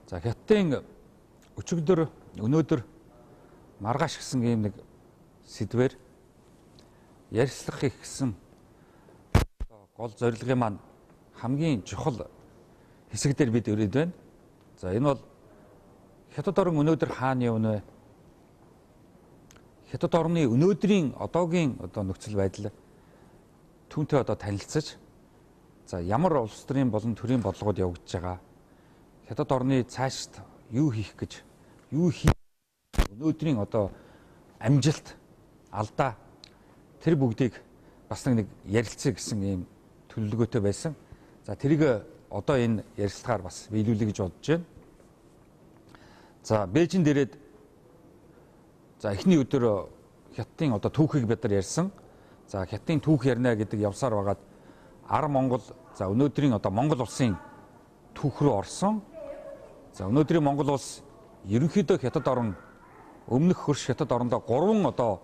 За Хятадын өчигдөр өнөөдөр маргааш гэсэн ийм нэг сэдвээр ярилцлах их гэсэн гол зорилгын маань хамгийн чухал хэсэг дээр бид өрөөд байна. За энэ бол Хятад орн өнөөдөр хаана явна вэ? Хятад орны өнөөдрийн одоогийн нөхцөл байдал түүнтэй танилцаж за ямар улс төрийн болон төрийн бодлогод явагдаж байгаа. Хятад орны цаашд юу хийх гэж өнөөдрийн амжилт алдаа тэр бүгдийг бас нэг ярилцъя гэсэн ийм төлөвлөгөөтэй байсан. За тэрийг одоо энэ ярилцлагаар бас биелүүлэе гэж бодож байна. За Бээжинд ирээд за эхний өдөр Хятадын түүхийг бид нар ярьсан. За Хятадын түүх ярина гэдэг явсаар байгаад Монгол за өнөөдрийн Монгол улсын түүх рүү орсон. За өнөөдрийн Монгол улс ерөнхийдөө Хятад орн өмнөх хөрш Хятад орондоо 3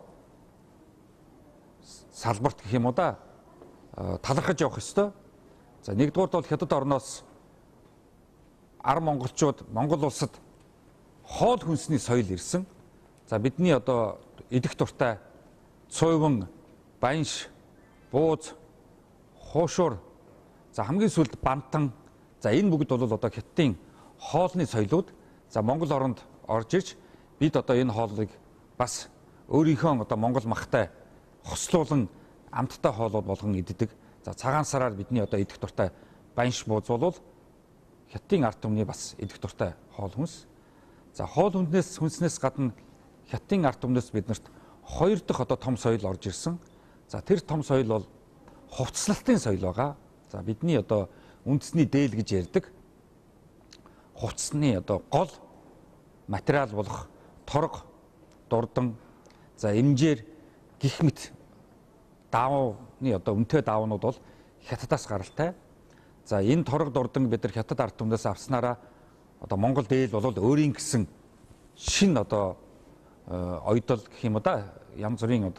салбарт гэх юм уу да талархаж явах ёстой. За нэгдүгээрт бол Хятад орноос монголчууд Монгол улсад хоол хүнсний соёл ирсэн. За бидний идэх дуртай цойвон, банш, бууз, хуушур, за хамгийн сүүлд бантан. За энэ бүгд бол Хятадын хоолны соёлууд. За Монгол оронд орж ирж бид энэ хоолыг бас өөрийнхөө Монгол махтай хослуулан амттай хоолууд болгон иддэг. За цагаан сараар бидний идэх дуртай банш, бууз бол Хятадын ард түмний бас идэх дуртай хоол хүнс. За хоол хүнснээс гадна Хятадын ард түмнээс биднэрт 2 дахь том соёл орж ирсэн. За тэр том соёл бол хувцлалтын соёл байгаа. За бидний үндэсний дээл гэж ярьдаг. Хувцсны гол материал болох торго, дурдан, за эмжээр гих мэт даавны үнэтэй даавнууд бол Хятадаас гаралтай. За энэ торго, дурдан бид нар Хятад ард түмнээс авснараа Монгол дээл бол өөрийн гэсэн шин ойдол гэх юм да янз бүрийн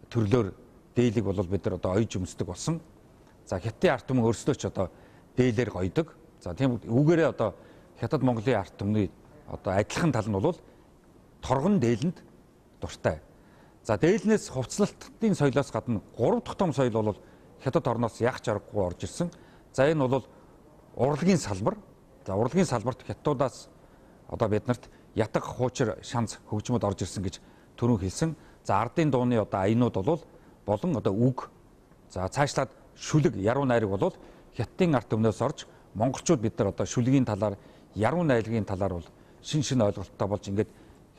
төрлөөр дээлийг бол бид нар ойж өмсдөг болсон. За Хятадын ард түмэн өөрсдөө ч дээлээр гойдог. За тийм үүгээрээ Хятад Монголын ард түмний адилхан тал нь бол торгон дээлэнд дуртай. За дээлнээс хувцлалтын соёлоос гадна 3 дахь том соёл бол Хятад орноос ягч аргагүй орж ирсэн. За энэ бол урлагийн салбар. За урлагийн салбарт Хятадуудаас биднэрт ятаг, хуучир, шанц хөгжмөд орж ирсэн гэж түрүүн хэлсэн. За ардын дууны аянууд болон үг. За цаашлаад шүлэг, яруу найраг бол Хятадын ард түмнээс орж монголчууд бид нар шүлгийн талаар, яруу найргийн талаар бол шин ойлголттой болж ингээд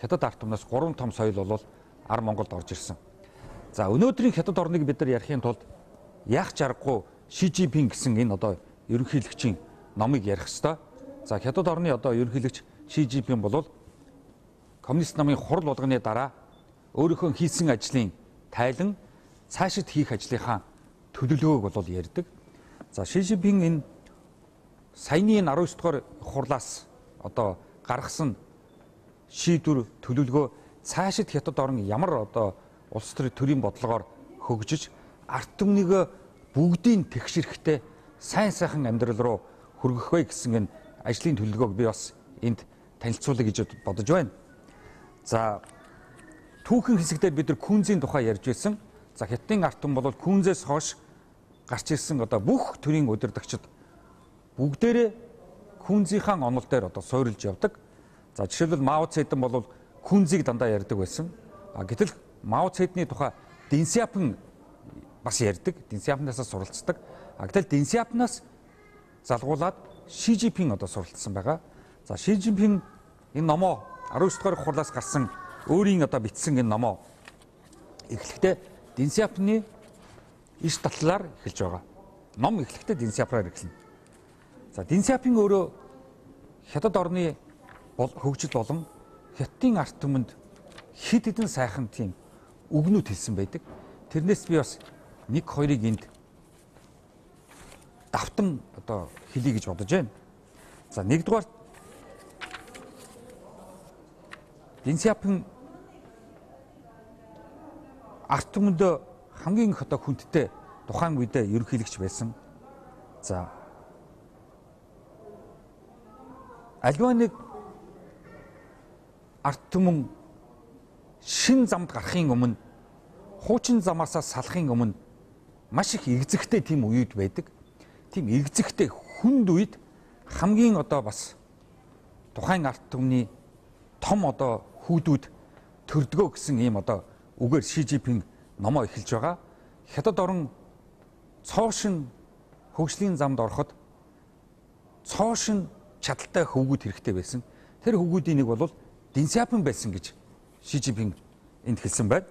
Хятад ард түмнээс 3 том соёл бол Монголд орж ирсэн. За өнөөдрийн Хятад орныг бид нар ярихын тулд яах аргагүй Ши Жинпинг гэсэн энэ ерөнхийлөгчийн номыг ярих ёстой. За Хятад орны ерөнхийлөгч Ши Жинпинг бол коммунист намын хурал болгоны дараа өөрийнхөө хийсэн ажлын тайлан цаашид хийх ажлынхаа төлөвлөгөөг бол ярьдаг. За Ши Жинпинг энэ саяны 19 дугаар хурлаас гаргасан шийдвэр төлөвлөгөө цаашид Хятад орн ямар улс төрийн бодлогоор хөгжиж ард түмнийг бүгдийн тэгшэрхтэй сайн сайхан амьдрал руу хүргэх вэ гэсэн энэ ажлын төлөвлөгөөг би бас энд танилцуулъя гэж бодож байна. За түүхэн хэсэгдэр бид нар күнзийн тухай ярьж байсан. За Хятадын ард түмэн бол күнзээс хойш гарч ирсэн бүх төрийн удирдагчид бүгдээрээ күнзийнхаа онол дээр суурилж явдаг. За жишээлбэл Мао Цзэдун бол күнзийг дандаа ярьдаг байсан. Гэтэл Мао Цзэдуны тухай Дэн Сяопин бас ярьдаг. Дэн Сяопинаас суралцдаг. Гэтэл Дэн Сяопинаас залгуулад Ши Жинпинг суралцсан байгаа. За Ши Жинпинг энэ номоо 19 дугаар хурлаас гарсан өөрийн бичсэн энэ номоо эхлэхдээ Дэн Сяопины иш татлаар эхэлж байгаа. Ном эхлэхдээ Дэн Сяопинаар эхэлнэ. За Дэн Сяопин өөрөө Хятад орны хөгжил болон Хятадын ард түмэнд хэд хэдэн сайхан тийм үгнүүд хэлсэн байдаг. Тэрнээс би бас 1-2-ыг энд давтан хэлье гэж бодож байна. За нэгдүгээр Дэн Сяопин ард түмэнд хамгийн хүндтэй тухайн үедээ ерөнхийлөгч байсан. За альва нэг арт түмэн шин замд гарахын өмнө хуучин замаасаа салахын өмнө маш их игзэгтэй тийм үед байдаг. Тийм игзэгтэй хүнд үед хамгийн одоо бас тухайн арт түмний том одоо хүүдүүд төрдгөө гэсэн ийм одоо үгээр Ши Жинпинг номоо эхэлж байгаа. Хятад орон цоошин хөгжлийн замд ороход цоошин чадaltaй хөвгүүд хэрэгтэй байсан. Тэр хөвгүүдийн нэг бол Дэн Сяопин байсан гэж Ши Жинпинг энд хэлсэн байна.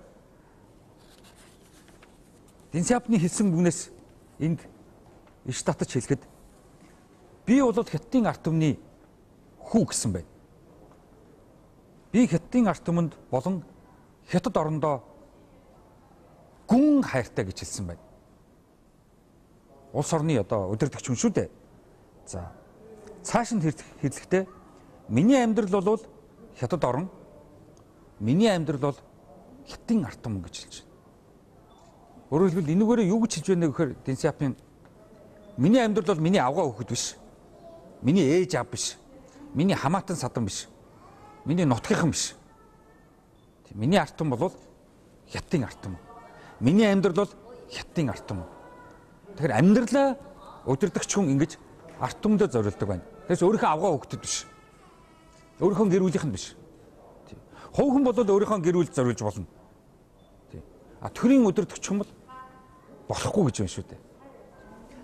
Дэн Сяопины хэлсэн бүгнээс энд иш татаж хэлэхэд би бол Хятадын арт түмний хүү гэсэн байна. Би Хятадын арт түмэнд болон Хятад орондоо гүн хайртай гэж хэлсэн байна. Улс орны одоо удирдагч хүн шүү дээ. За цааш нь хэлэхдээ миний амьдрал бол Хятад орн, миний амьдрал бол Хятадын арт түмэн гэж хэлж байна. Өөрөөр хэлбэл энэгээр юу гэж хэлж байна гэхээр Дэн Сяопин миний амьдрал бол миний авгаа хөхөд биш. Миний ээж аав биш. Миний хамаатан садан биш. Миний нутгийнхан биш. Миний арт түмэн бол Хятадын арт түмэн. Миний амьдрал бол Хятадын арт түмэн. Тэгэхээр амьдралаа удирдагч хүн ингэж арт түмэндээ зориулдаг байна. Тэрс өөрийнхөө авгаа хөхөд биш. Өөрийнхөө гэр бүлийнхэн биш. Хувь хүн бол өөрийнхөө гэр бүлд зориулж болно. Төрийн удирдагч хүн бол болохгүй гэж байна шүү дээ.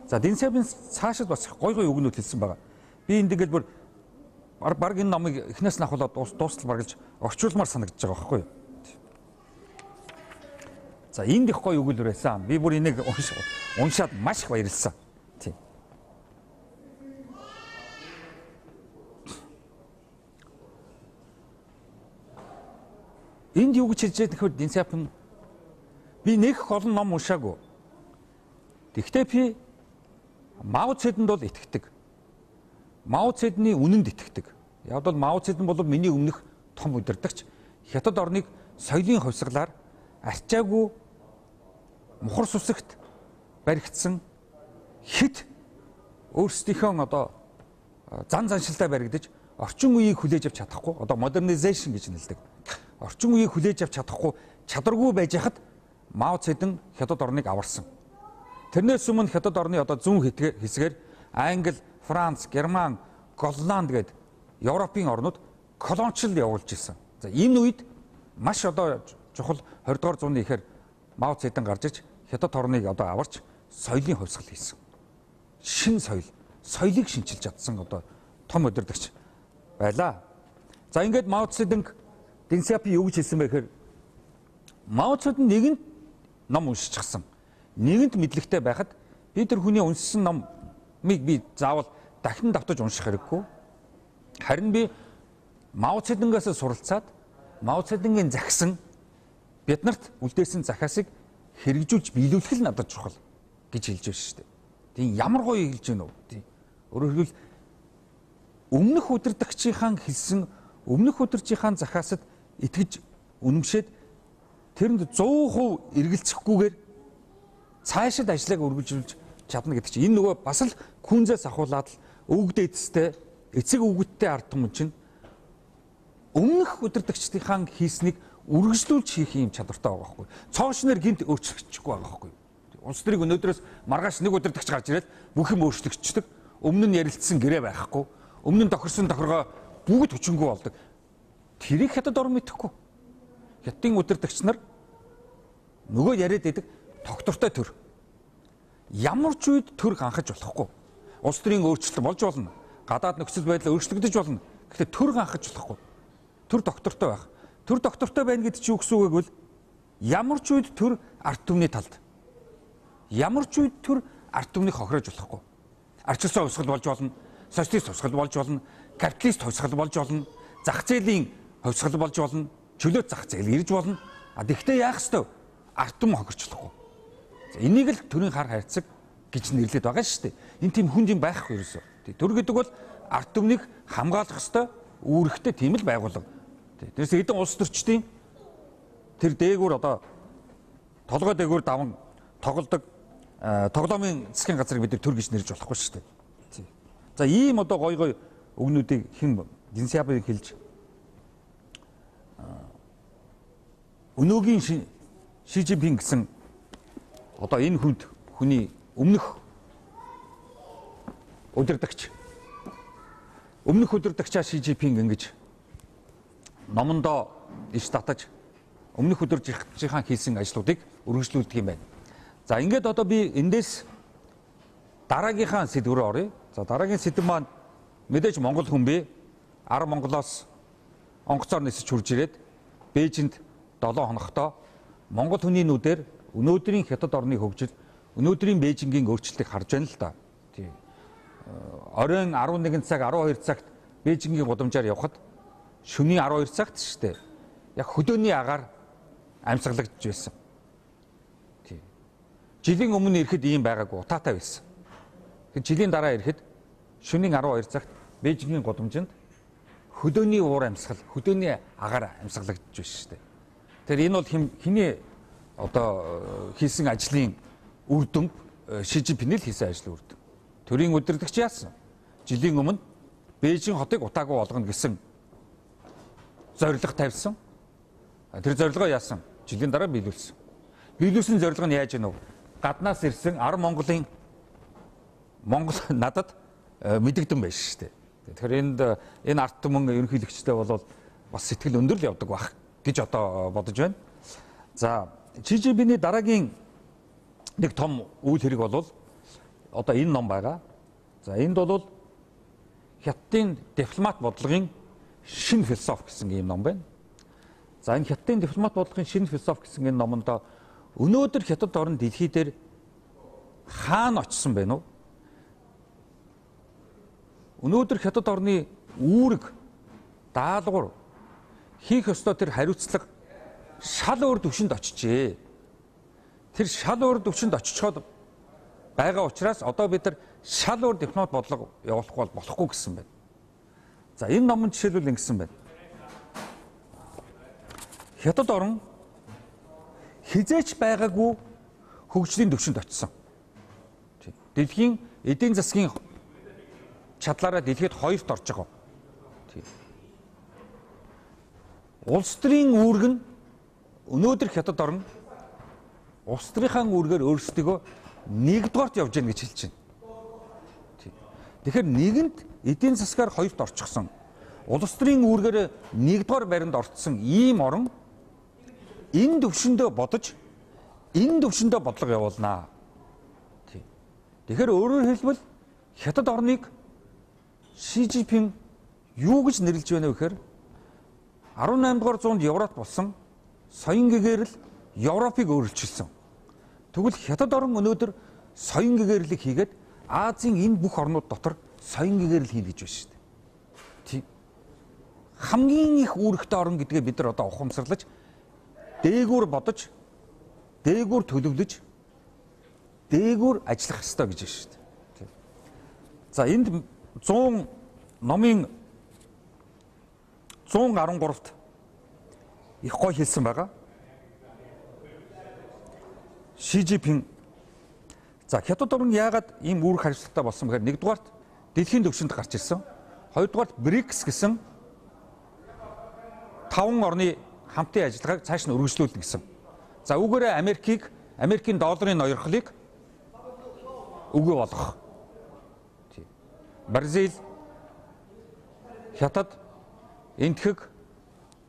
За Дэн Сяопин цаашид бас гой үгнүүд хэлсэн байгаа. Би энэ тэгэл бүр баг энэ номыг эхнээс нь ахуулаад дуустал баргалж орчуулмаар санагдаж байгаа байхгүй юу? За энд их гой өгүүлбэр байсан. Би бүр энийг уншаад маш их баярлсан. Тийм. Энд юу гэж хэлж байгаа нөхөр Дэн Сяопин би нэг олон ном уншаагүй. Тэгвэл би Мао Цзэдунд бол итгэдэг. Мао Цзэдуны үнэнд итгэдэг. Яг бол Мао Цзэдун бол миний өмнөх том удирдагч. Хятад орныг соёлын хувьсгалаар арчаагүй мухар сүсэгт баригдсан хит өөрсдийнхөө одоо зан заншилтай баригдаж орчин үеийг хүлээж авч чадахгүй одоо модернизашн гэж нэлдэг. Орчин үеийг хүлээж авч чадахгүй чадваргүй байж хахад Мао Цзэдун Хятад орныг аварсан. Тэрнээс өмнө Хятад орны одоо зүүн хэсгээр Англи, Франц, Герман, Голланд гээд Европын орнууд колоничлол явуулж ирсэн. За энэ үед маш одоо чухал 20 дугаар зууны ихээр Мао Цзэдун гарч иж Хятад орныг одоо аварч соёлын хувьсгал хийсэн. Шин соёлыг шинчилж чадсан одоо том удирдагч байлаа. За ингээд Мао Цзэдун Дэн Сяопин юу гэж хэлсэн бэ гэхээр Мао Цзэдун нэгэнт ном уншчихсан. Нэгэнт мэдлэгтэй байхад би тэр хүний уншсан номыг би заавал дахин давтаж унших хэрэггүй. Харин би Мао Цзэдунгаас суралцаад Мао Цзэдунгийн захисан биднэрт үлдээсэн захиасыг хэрэгжүүлж биелүүлэх л надад чухал гэж хэлж байна шүү дээ. Тийм ямар гоё хэлж байна уу? Тийм. Өөрөөр хэлбэл өмнөх удирдагчийн хэлсэн өмнөх удирдагчийн захиасад итгэж үнэмшээд тэрэнд 100% эргэлзэхгүйгээр цаашид ажлыг үргэлжлүүлж чадна гэдэг чинь энэ нөгөө бас л күнзээс ахуулаад л өвгд эцэстэй эцэг өвгөдтэй ард түмэн чинь өмнөх удирдагчдын хийснийг үргэлжлүүлж хийх юм чадвартай байгаа байхгүй. Цоошноор гинт өөрчлөгдөхгүй байгаа байхгүй. Улс төрийг өнөөдрөөс маргааш нэг удирдагч гарч ирээд бүх юм өөрчлөгдчихдөг. Өмнө нь ярилцсан гэрээ байхгүй. Өмнө нь тохирсон тохиргоо бүгд хүчингүй болдог. Тэрийг Хятад орн мэдэхгүй. Хятадын удирдагч нар нөгөө яриад байдаг тогтвортой төр. Ямар ч үед төр ганхаж болохгүй. Улс төрийн өөрчлөлт болж болно. Гадаад нөхцөл байдал өөрчлөгдөж болно. Гэхдээ төр ганхаж болохгүй. Төр доктортой байх. Төр доктортой байна гэдэг чинь юу гэсэн үг вэ? Ямар ч үед төр арт түмний талд. Ямар ч үед төр арт түмнийг хохирож болохгүй. Арчилсан хувьсгал болж болно. Социалист хувьсгал болж болно. Капиталист хувьсгал болж болно. Зах зээлийн хувьсгал болж болно. Чөлөөт зах зээл ирж болно. Гэхдээ яах ёстой? Арт түмэн хохирчлахгүй. Энийг л төрийн хар хайрцаг гэж нэрлэдэг байгаа шүү дээ. Энэ тийм хүнд юм байхгүй ерөөсөө. Төр гэдэг бол арт түмнийг хамгаалах ёстой, үүрэгтэй тийм л байгууллага. Тэрээс эдэн улс төрчдийн тэр дээгүүр одоо толгой дээгүүр даван тоглодог тоглоомын засгийн газрыг бид төр гэж нэрлэж болохгүй шүү дээ. За ийм одоо гой үгнүүдийг хэн Дэн Сяопин хэлж өнөөгийн Ши Цзиньпин гэсэн одоо энэ хүний өмнөх удирдагчаа Ши Цзиньпин ингэж номондоо иш татаж өмнөх удирдагчийн хийсэн ажлуудыг үргэлжлүүлдэг юм байна. За ингээд одоо би эндээс дараагийнхаа сэдв рүү оръё. За дараагийн сэдв маань мэдээж Монгол хүн бэ. 10 Монголоос онгоцоор нисэж хурж ирээд Бээжинд 7 хоногтой Монгол хүний нүдээр өнөөдрийн Хятад орны хөгжил, өнөөдрийн Бээжингийн өөрчлөлтийг харж байна л да. Тийм. Оройн 11 цаг 12 цагт Бээжингийн гудамжаар явхад шөнийн 12 цагт шүү дээ. Яг хөдөөний агаар амьсгалагдж байсан. Тийм. Жилийн өмнө ирэхэд ийм байгаагүй утаатай байсан. Жилийн дараа ирэхэд шөнийн 12 цагт Бээжингийн гудамжинд хөдөөний уур амьсгал, хөдөөний агаар амьсгалагдж байсан шүү дээ. Тэгэхээр энэ бол хиний одоо хийсэн ажлын үр дүн Ши Цзиньпин л хийсэн ажлын үр дүн. Төрийн удирдагч яасан? Жилийн өмнө Бээжин хотыг утаагүй болгоно гэсэн зорилго тавьсан. Тэр зорилгоо яасан? Жилийн дараа биелүүлсэн. Биелүүлсэн зорилго нь яаж гэнэ вэ? Гаднаас ирсэн 10 Монголын Монгол надад мэдэгдэн байж штэ. Тэгэхээр энэ арт түмэн ерөнхийлөгчтэй бол бас сэтгэл өндөр л явдаг байх гэж одоо бодож байна. За Ши Цзиньпиний дараагийн нэг том үйл хэрэг бол одоо энэ ном байгаа. За энд бол Хятадын дипломат бодлогын шинэ философи гэсэн ийм ном байна. За энэ Хятадын дипломат бодлогын шинэ философи гэсэн энэ номонд өнөөдөр Хятад орн дэлхий дээр хаана очсон бэ нү? Өнөөдөр Хятад орны үүрэг, даалгавар хийх ёстой тэр хариуцлага шал өөр түвшинд очижээ. Тэр шал өөр түвшинд очичоод байгаа учраас одоо бид нар шал өөр дипломат бодлого явуулах болохгүй гэсэн байна. За энэ номон жишээлбэл ингэсэн байна. Хятад орн хизээч байгаагүй хөгжлийн түвшинд очсон. Дэлхийн эдийн засгийн чадлаараа дэлхийд 2-т орж байгаа. Улс төрийн үүрэг нь өнөөдөр Хятад орн улс төрийнхаа үүргээр өөрсдөө 1-дугаарт явж гэнэ гэж хэлж байна. Тэгэхээр нэгэнт эдийн засгаар 2-т орчихсон. Улс төрийн үүргээр 1-дугаар байранд орцсон ийм орн энэ төвшөндөө бодож энэ төвшөндөө бодлого явуулнаа. Тэгэхээр өөрөөр хэлбэл Хятад орныг Ши Цзиньпин юу гэж нэрлэж байна вэ гэхээр 18 дугаар зуунд Европ болсон соён гэгэрэл Европыг өөрчилсөн. Тэгвэл Хятад орн өнөөдөр соён гэгэрлийг хийгээд Азийн энэ бүх орнууд дотор соён гэгэрэл хийнэ гэж байна шүү дээ. Тийм. Хамгийн их үүрэгтэй орн гэдгээ бид нар одоо ухамсарлаж дээгүүр бодож, дээгүүр төлөвлөж, дээгүүр ажиллах ёстой гэж байна шүү дээ. За энд 100 номын 113-т их гой хэлсэн байгаа. Ши Цзиньпин за Хятад орн яагаад ийм үүрэг хариуцлагатай болсон бэхээр нэгдүгээрт дэлхийн түвшинд гарч ирсэн. Хоёрдугаарт БРИКС гэсэн 5 орны хамтын ажиллагааг цааш нь үргэлжлүүлнэ гэсэн. За үүгээрээ Америкийн долларын ноёрхлыг үгүй болгох. Бразил, Хятад, Энэтхэг,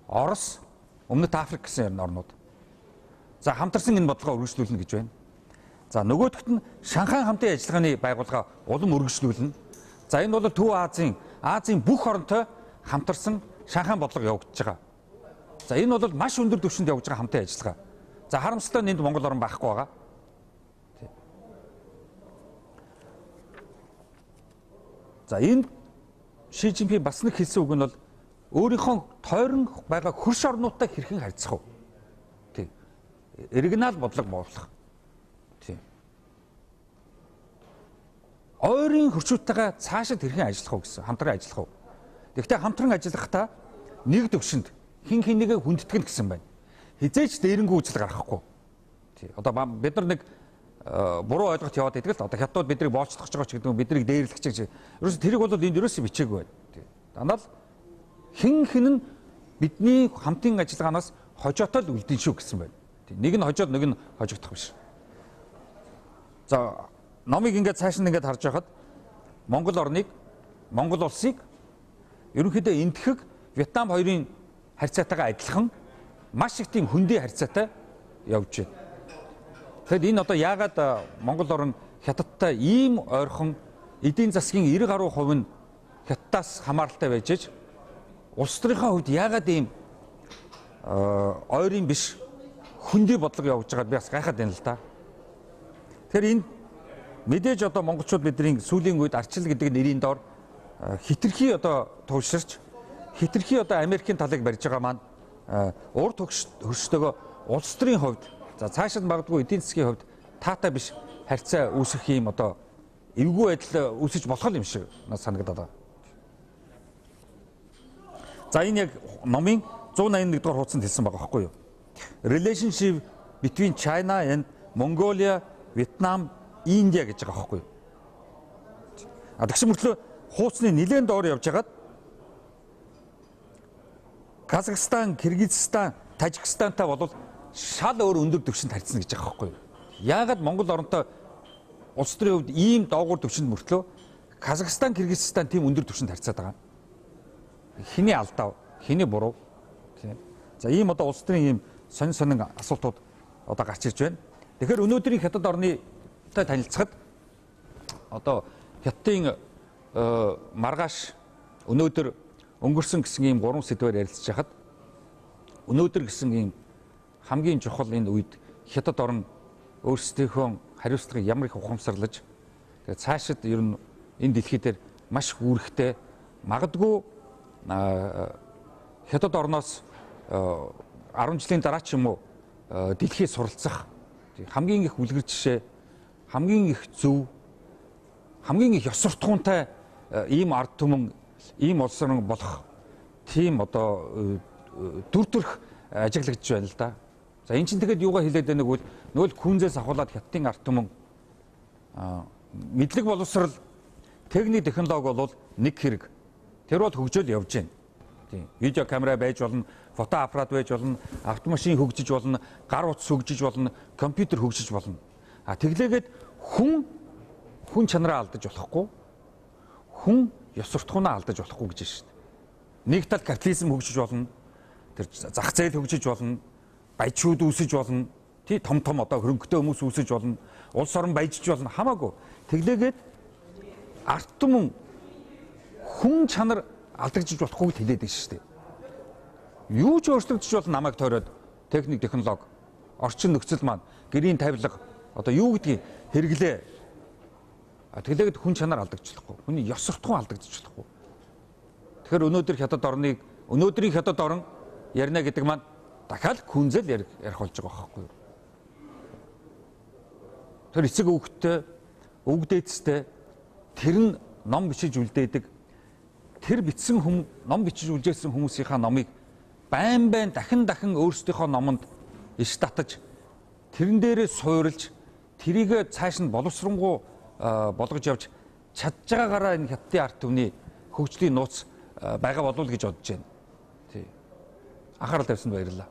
Орос, Өмнөд Африк гэсэн орнууд. За хамтарсан энэ бодлогоо үргэлжлүүлнэ гэж байна. За нөгөөдөгт нь Шанхай хамтын ажиллагааны байгууллага улам үргэлжлүүлнэ. За энэ бол Төв Азийн бүх оронтой хамтарсан Шанхай бодлого явагдаж байгаа. За энэ бол маш өндөр түвшинд явж байгаа хамтын ажиллагаа. За харамсалтай нь энд Монгол орн байхгүй байгаа. За энэ Ши Цзиньпин бас нэг хэлсэн үг нь бол өөрийнхөө тойрон байгаа хөрш орнуудтай хэрхэн харьцах вэ? Тийм. Оригинал бодлого буулгах. Тийм. Ойрын хөршүүдтэйгээ цаашид хэрхэн ажиллах вэ гэсэн, хамтран ажиллах вэ? Гэхдээ хамтран ажиллахдаа нэг төвшөнд хин хинийгээ хүндэтгэн гэсэн байна. Хизээч дээрэнгүү үзэл гаргахгүй. Тийм. Одоо бид нар нэг буруу ойлголт яваад байдаг л одоо хятад биднийг боочдох гэж байгаа ч гэдэг нь биднийг дээрлэх гэж. Ерөөс тэрийг бол энд ерөөсөө бичээгүй байна. Дандаа л хэн нь бидний хамтын ажиллагаанаас хожоотол үлдэн шүү гэсэн байна. Нэг нь хожоод нэг нь хожигдох биш. За номыг ингээд цааш нь ингээд харж байхад Монгол орныг, Монгол улсыг ерөнхийдөө энтхэг Вьетнам хоёрын харьцаатайгаа адилхан маш их тийм хөндий харьцаатай явж байна. Тэгэхэд энэ одоо яагаад Монгол орн Хятадтай ийм ойрхон эдийн засгийн 90 гаруй хувь нь Хятадаас хамааралтай байж аж улс төрийнхөө хувьд яагаад ийм ойрын биш хөндий бодлого явуулж байгаад би бас гайхаад байна л да. Тэгэхээр энэ мэдээж одоо монголчууд бидний сүүлийн үед арчил гэдэг нэрийн доор хитрхи одоо тууширч хитрхи одоо Америкийн талыг барьж байгаа маань урд хөрштөөгөө улс төрийн хувьд за цаашид магадгүй эдийн засгийн хувьд таатай биш харьцаа үүсгэх юм одоо эвгүй байдал үүсэж болох юм шиг надад санагдаад байна. За энэ яг номын 181 дугаар хуудсанд хэлсэн байгаа байхгүй юу? Relationship between China and Mongolia, Vietnam, India гэж байгаа байхгүй юу? Тэгш мөртлөө хуудсны нэлээд доор явж хагаад Казахстан, Кыргызстан, Тажикстантай бол шал өөр өндөр түвшинд харьцна гэж байгаа байхгүй юу? Яагаад Монгол оронтой улс төрийн хувьд ийм доогуур түвшинд мөртлөө Казахстан, Кыргызстан тийм өндөр түвшинд харьцаад байгаа? Хиний алдаа, хиний буруу? За ийм одоо улс төрийн ийм сонин асуултууд одоо гарч ирж байна. Тэгэхээр өнөөдрийн Хятад орнытай танилцахад одоо Хятадын маргааш өнөөдөр өнгөрсөн гэсэн ийм 3 сэдвээр ярилцж хахад өнөөдөр гэсэн ийм хамгийн чухал энэ үед Хятад орн өөрсдийнхөө хариуцлагыг ямар их ухамсарлаж тэгээд цаашид ер нь энэ дэлхий дээр маш үүрэгтэй магадгүй Хятад орноос 10 жилийн дараа ч юм уу дэлхийд суралцах хамгийн их үлгэр жишээ, хамгийн их зөв, хамгийн их ёс суртахуунтай ийм ард түмэн, ийм улс орн болох тийм одоо дүр төрх ажиглагдж байна л да. За эн чинь тэгэхэд юугаа хэлээд байгааг бол нөл күнзээс ахуулаад Хятадын ард түмэн мэдлэг боловсрал, техник технологи бол нэг хэрэг. Тэр бол хөгжөөл явж байна. Тийм. Видео камера байж болно, фото аппарат байж болно, автомашин хөгжиж болно, гар утас хөгжиж болно, компьютер хөгжиж болно. Тэглээгээд хүн чанараа алдаж болохгүй. Хүн ёс суртахуунаа алдаж болохгүй гэж байна шүү дээ. Нэг тал капитализм хөгжиж болно. Тэр зах зээл хөгжиж болно. Баяжууд үүсэж болно. Тий том одоо хөрөнгөтэй хүмүүс үүсэж болно. Улс орон баяжиж болно. Хамаагүй. Тэглээгээд арт түмэн хүн чанар алдагдчих болохгүй хэлээд байна шүү дээ. Юу ч өөрчлөгдөж бол намайг тойроод техник технологи, орчин нөхцөл маань, гэрийн тавилга одоо юу гэдгийг хэрэглээ. Тэглээгээд хүн чанар алдагдчихлахгүй. Хүний ёс суртахуун алдагдчихлахгүй. Тэгэхээр өнөөдрийн Хятад орн ярина гэдэг маань дахиад күнзэл ярих болж байгаа байхгүй юу? Тэр эцэг өвгттэй, өвгдээцтэй тэр нь ном бичиж үлдээдэг. Тэр бичсэн ном бичиж үлдээсэн хүмүүсийнхаа номыг байн дахин өөрсдийнхөө номонд иш татаж тэрэн дээрээ суурилж тэрийг цааш нь боловсронгуй болгож явж чадж байгаагаараа энэ Хятадын ард түмний хөгжлийн нууц байгаа болов уу гэж бодож байна. Тий. Анхаарал тавьсанд баярлалаа.